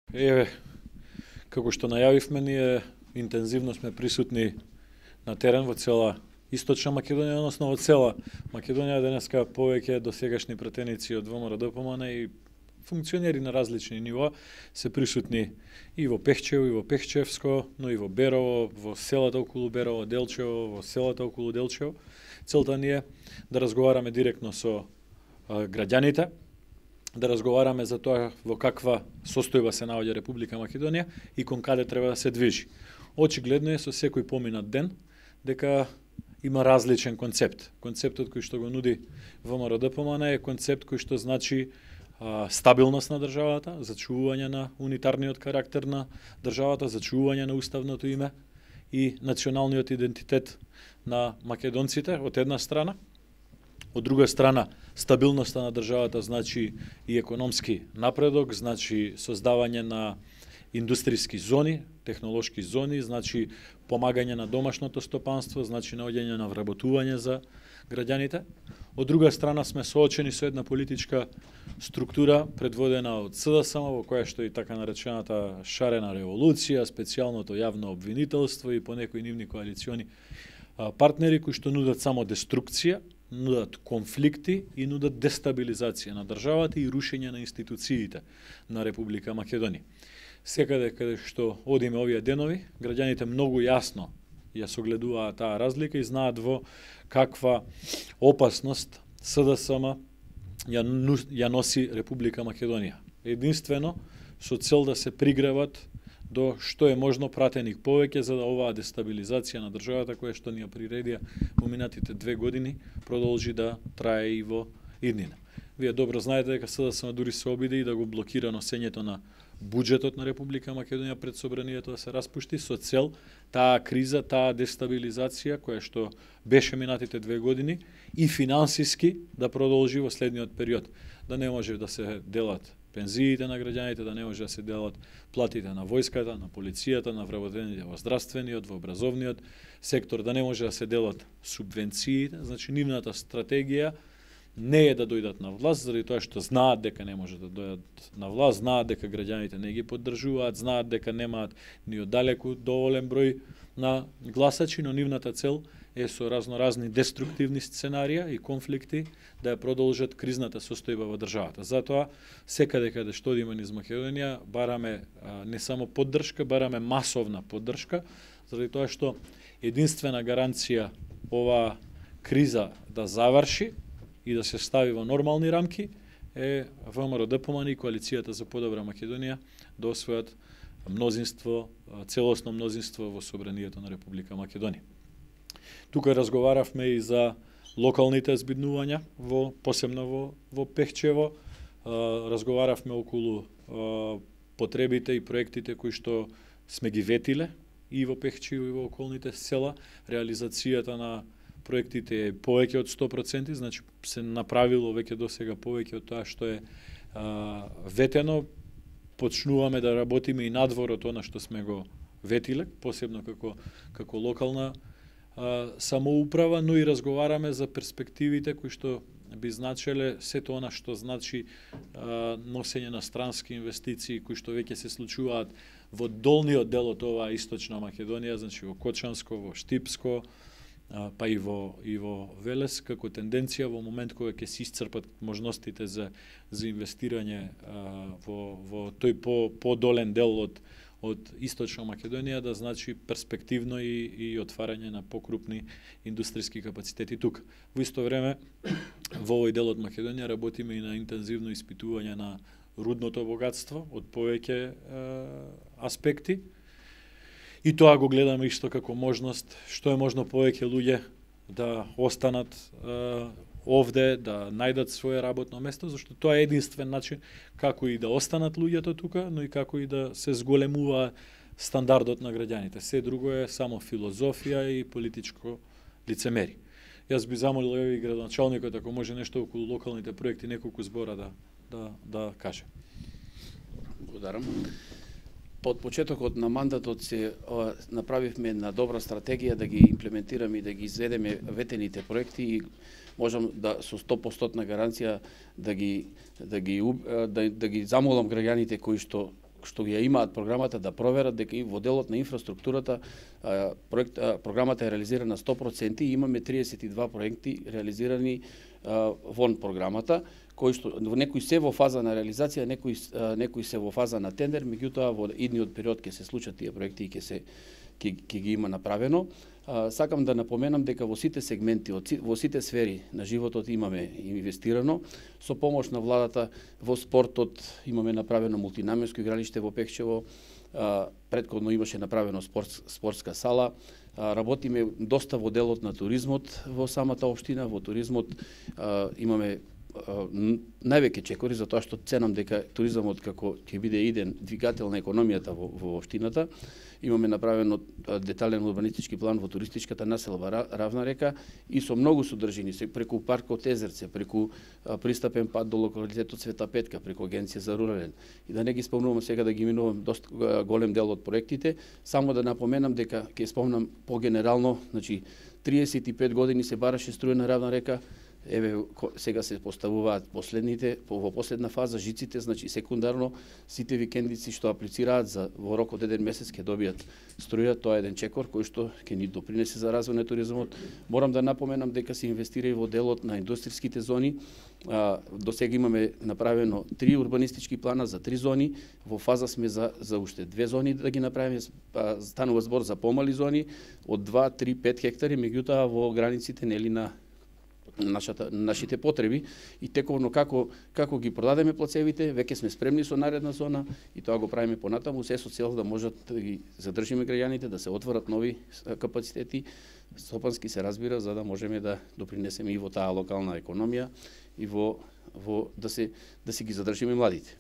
Еве, како што најавивме, ние интензивно сме присутни на терен во цела Источна Македонија, односно во цела Македонија. Денеска повеќе досегашни пратеници од ВМРО ДПМН и функционери на различни нива се присутни и во Пехчево, и во Пехчевско, но и во Берово, во селата околу Берово, Делчево, во селата околу Делчево. Целта ни е да разговараме директно со граѓаните, да разговараме за тоа во каква состојба се наоѓа Република Македонија и кон каде треба да се движи. Очигледно е со секој поминат ден дека има различен концепт. Концептот кој што го нуди ВМРО ДПМН е концепт кој што значи стабилност на државата, зачувување на унитарниот карактер на државата, зачувување на уставното име и националниот идентитет на македонците од една страна. Од друга страна, стабилноста на државата значи и економски напредок, значи создавање на индустријски зони, технолошки зони, значи помагање на домашното стопанство, значи наоѓање на вработување за граѓаните. Од друга страна сме соочени со една политичка структура предводена од СДСМ, во која што и така наречената шарена револуција, специјалното јавно обвинителство и понекои нивни коалициони партнери кои што нудат само деструкција, нудат конфликти и нудат дестабилизација на државата и рушење на институциите на Република Македонија. Секаде каде што одиме овие денови, граѓаните многу јасно ја согледуваат таа разлика и знаат во каква опасност СДСМ ја носи Република Македонија. Единствено со цел да се пригреват до што е можно пратеник повеќе за да оваа дестабилизација на државата која што ни ја приредија во минатите 2 години продолжи да трае и во иднина. Вие добро знаете дека СДСМ дури се обиде и да го блокира носењето на буџетот на Република Македонија пред собранието да се распушти со цел таа криза, таа дестабилизација која што беше минатите 2 години и финансиски да продолжи во следниот период. Да не може да се делат пензиите на граѓаните, да не може да се делат платите на војската, на полицијата, на вработените во здравствениот, во образовниот сектор, да не може да се делат субвенциите. Значи, нивната стратегија не е да дојдат на власт, заради тоа што знаат дека не може да дојдат на власт, знаат дека граѓаните не ги поддржуваат, знаат дека немаат ни оддалеку доволен број на гласачи, но нивната цел е со разноразни деструктивни сценарија и конфликти да ја продолжат кризната состојба во државата. Затоа, секаде каде што одиме низ Македонија, бараме не само поддршка, бараме масовна поддршка, заради тоа што единствена гаранција оваа криза да заврши и да се стави во нормални рамки е ВМРО ДПМН и коалицијата за подобра Македонија да освојат мнозинство, целосно мнозинство во собранието на Република Македонија. Тука разговаравме и за локалните збиднувања, посебно во Пехчево. Разговаравме околу потребите и проектите кои што сме ги ветиле и во Пехчево и во околните села. Реализацијата на проектите е повеќе од 100%, значи се направило веќе досега повеќе од тоа што е ветено. Почнуваме да работиме и надвор од она што сме го ветиле, посебно како локална самоуправа, но и разговараме за перспективите кои што би значеле сето она што значи носење на странски инвестиции кои што веќе се случуваат во долниот дел од оваа Источна Македонија, значи во Кочанско, во Штипско, па и во Велес, како тенденција во момент кога ќе се исцрпат можностите за инвестирање во тој подолен дел од Источна Македонија, да значи перспективно и отварање на покрупни индустријски капацитети тука. Во исто време, во овој дел од Македонија работиме и на интензивно испитување на рудното богатство од повеќе аспекти. И тоа го гледаме исто како можност, што е можно повеќе луѓе да останат овде, да најдат свое работно место, зашто тоа е единствен начин како и да останат луѓето тука, но и како и да се зголемува стандардот на граѓаните. Се друго е само филозофија и политичко лицемери. Јас би замолил и градоначалникот ако може нешто околу локалните проекти, неколку збора да каже. Благодарам. Под почетокот на мандатот се направивме една добра стратегија да ги имплементираме и да ги изведеме ветените проекти и можам да со 100% гаранција да ги замолам граѓаните кои што што ја имаат програмата да проверат дека и во делот на инфраструктурата програмата е реализирана 100% и имаме 32 проекти реализирани вон програмата, кои што некои се во фаза на реализација, некои се во фаза на тендер, меѓутоа во идниот период ќе се случат тие проекти и ќе ги има направено. Сакам да напоменам дека во сите сегменти, во сите сфери на животот имаме инвестирано. Со помош на владата во спортот имаме направено мултинаменско игралиште во Пехчево, претходно имаше направено спортска сала, работиме доста во делот на туризмот во самата општина. Во туризмот имаме највеќе чекори, затоа што ценам дека туризмот како ќе биде иден двигател на економијата во општината. Имаме направено детален урбанистички план во туристичката населба Равна река и со многу содржини, преку паркот Езерце, преку пристапен пат до локалитетот Света Петка, преку Агенција за рурален. И да не ги спомнувам сега, да ги минувам доста голем дел од проектите, само да напоменам дека ќе спомнам погенерално, значи 35 години се бараше струја на Равна река. Еве сега се поставуваат во последна фаза жиците, значи секундарно сите викендици што аплицираат во рок од 1 месец ќе добијат струја. Тоа е еден чекор кој што ќе ни допринесе за развој на туризмот. Морам да напоменам дека се инвестира и во делот на индустријските зони. До сега имаме направено 3 урбанистички плана за 3 зони. Во фаза сме за уште 2 зони да ги направиме. Станува збор за помали зони од 2, 3, 5 хектари, меѓутоа во границите нели на нашите потреби и тековно како ги продадеме плацевите, веќе сме спремни со наредна зона и тоа го правиме понатаму, се со цел да можат да ги задржиме граѓаните, да се отворат нови капацитети, стопански се разбира, за да можеме да допринесеме и во таа локална економија и да си ги задржиме младите.